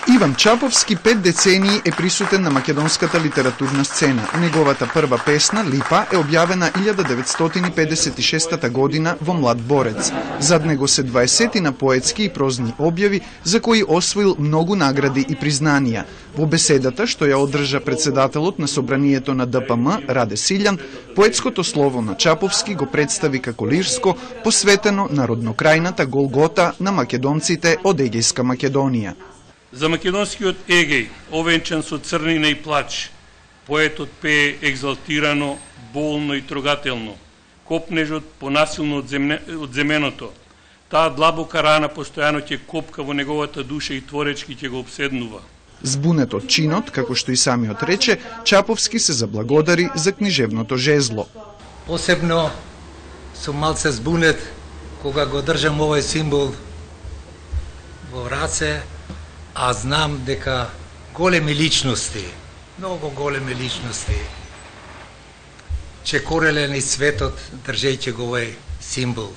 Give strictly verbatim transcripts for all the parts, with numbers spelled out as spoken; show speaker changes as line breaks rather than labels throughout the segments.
Иван Чаповски пет децении е присутен на македонската литературна сцена. Неговата прва песна, Липа, е објавена илјада деветстотини педесет и шеста година во Млад борец. Зад него се дваесет на поетски и прозни објави, за кои освоил многу награди и признанија. Во беседата, што ја одржа председателот на собранието на Д П М, Раде Силјан, поетското слово на Чаповски го представи како лирско, посветено на роднокрајната Голгота на македонците од Егејска Македонија.
За македонскиот Егеј, овенчан со црнина и плач, поетот пее екзалтирано, болно и трогателно. Копнежот понасилно од, земне, од земеното. Таа длабока рана постојано ќе копка во неговата душа и творечки ќе го обседнува.
Збунет од чинот, како што и самиот рече, Чаповски се заблагодари за книжевното жезло.
Посебно сум малце збунет кога го држам овој символ во раце, а знам дека големи личности, многу големи личности, чекореле низ светот држејќи го овој символ.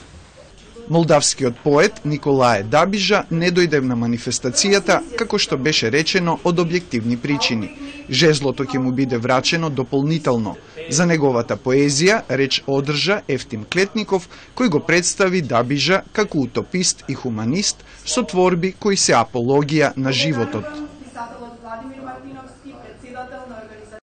Молдавскиот поет Николае Дабижа не дојде на манифестацијата, како што беше речено, од објективни причини. Жезлото ќе му биде врачено дополнително. За неговата поезија реч одржа Ефтим Клетников, кој го представи Дабижа како утопист и хуманист со творби кои се апологија на животот.